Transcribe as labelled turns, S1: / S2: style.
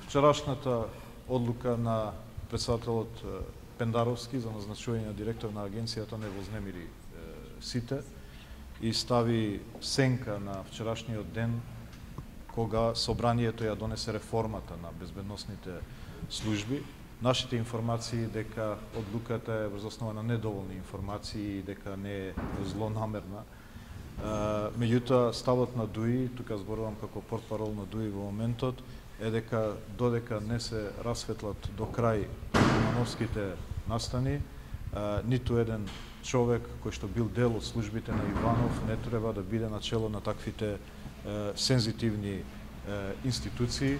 S1: Вчерашната одлука на председателот Пендаровски за назначување на директор на агенцијата не вознемири сите и стави сенка на вчерашниот ден кога собранието ја донесе реформата на безбедносните служби. Нашите информации дека одлуката е врз основа на недоволни информации и дека не е злонамерна. Меѓутоа, ставот на ДУИ, тука зборувам како портпарол на ДУИ во моментот, е дека додека не се расветлат до крај Ивановските настани, ниту еден човек кој што бил дел од службите на Иванов не треба да биде начело на таквите сензитивни институции.